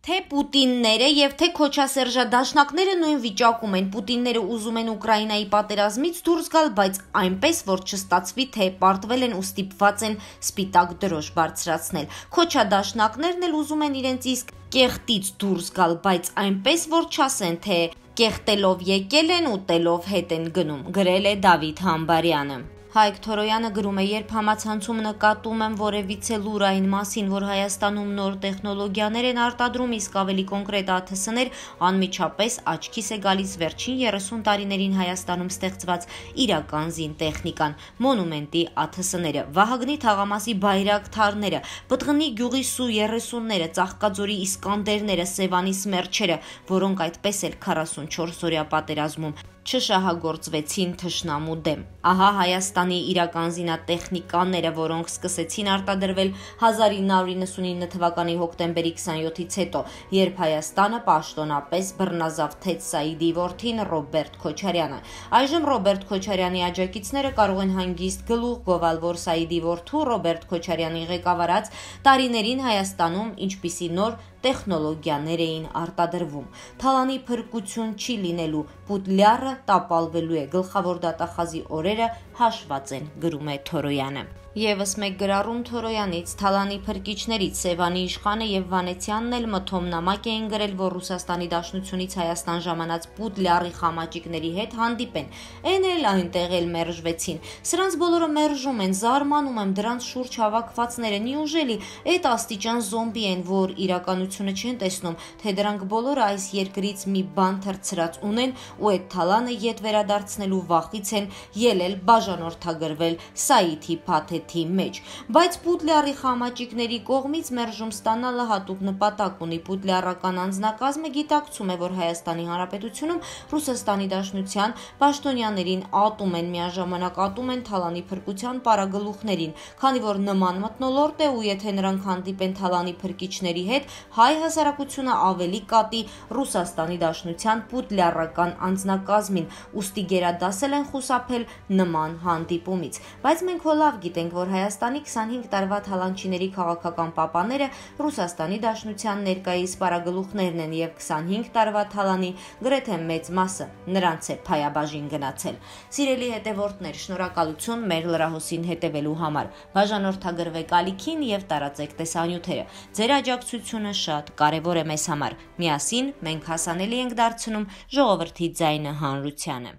Թե Պուտինները եւ թե քոչասերժադաշնակները նույն վիճակում են։ Պուտինները ուզում են Ուկրաինայի պատերազմից դուրս գալ, բայց այնպես, որ չստացվի, թե պարտվել են ու ստիպված են սպիտակ դրոշ բարձրացնել։ Քոչադաշնակներն էլ ուզում են իրենց իսկ կեղտից դուրս գալ, բայց այնպես, որ չասեն, թե կեղտելով եկել են, ուտելով հետ են գնում, գրել է Դավիթ Համբարյանը։ Հայկ Թորոյանը գրում է, երբ համացանցում նկատում եմ որևիցե լուր այն մասին, որ Հայաստանում նոր տեխնոլոգիաներ են արտադրում, իսկ ավելի կոնկրետ ԱԹՍ-ներ, անմիջապես աչքիս է գալիս վերջին 30 տարիներին Հայաստանում ստեղծված իրական զինտեխնիկան, մոնումենտի ԱԹՍ-ները, Վահագնի թաղամասի բայրակթարները, Պտղնի գյուղի Սու-30-ները, Ծաղկաձորի Իսկանդերները, Սևանի Սմերչերը, որոնք այդպես էլ 44-օրյա պատերազմում չշահագործվեցին թշնամու դեմ։ Ահա Հայաստանի իրական զինատեխնիկաները, որոնք սկսեցին արտադրվել 1999 թվականի հոկտեմբերի 27-ից հետո, երբ Հայաստանը պաշտոնապես բռնազավթեց Սաիդի որդին Ռոբերտ Քոչարյանը։ Այժմ Ռոբերտ Քոչարյանի աջակիցները կարող են հանգիստ գլուխ գովալ, որ Սաիդի որդու Ռոբերտ Քոչարյանի ղեկավարած տարիներին Հայաստանում ինչպիսի նոր տեխնոլոգիաներ էին արտադրվում։ Թալանի փրկություն չի լինելու, Պուտլյարը տապալվելու է, գլխավոր դատախազի օրերը հաշված են, գրում է Թորոյանը։ Եվս մեկ գրառում Թորոյանից, Թալանի փրկիչներից Սևանի իշխանը եւ Վանեցյանն էլ մթոմնամակ էին գրել, որ Ռուսաստանի Դաշնությունից Հայաստան ժամանած Պուտլյարի խամաճիկների հետ հանդիպեն։ Էն էլ այնտեղ էլ մերժվեցին։ Սրանց բոլորը մերժում են, զարմանում եմ, դրանց շուրջ հավաքվածները նիուժելի այդ աստիճան զոմբի են, որ իրականությունը չեն տեսնում, թե դրանք բոլորը այս երկրից մի բան թռցրած ունեն ու այդ Թալանը ետ վերադարձնելու վախից են ելել բաժանորդագրվել Սաիդի փաթեթի մեջ։ Բայց Պուտլյարի խամաճիկների կողմից մերժում ստանալը հատուկ նպատակ ունի։ Պուտլյարական անձնակազմը գիտակցում է, որ Հայաստանի Հանրապետությունում Ռուսաստանի Դաշնության պաշտոնյաներին ատում են, միաժամանակ ատում են Թալանի փրկության պարագլուխներին, քանի որ նման մթնոլորտ է ու եթե նրանք հանդիպեն Թալանի փրկիչների հետ, հայ հասարակությունը ավելի կատի Ռուսաստանի Դաշնության Պուտլյարական անձնակազմին, ուստի գերադասել են խուսափել նման հանդիպումից։ Բայց մենք հոլավ գիտենք, որ Հայաստանի 25 տարվա թալանչիների քաղաքական պապաները Ռուսաստանի Դաշնության ներկայիս պարագլուխներն են եւ 25 տարվա թալանի գրեթե մեծ մասը նրանց է փայաբաժին գնացել։ Սիրելի հետևորդներ, շնորհակալություն մեր լրահոսին հետևելու համար։ Բաժանորդագրվեք ալիքին եւ տարածեք տեսանյութերը։ Ձեր աջակցությունը շատ կարևոր է մեզ համար։ Միասին մենք հասանելի ենք դարձնում ժողովրդի ձայնը հանրությանը։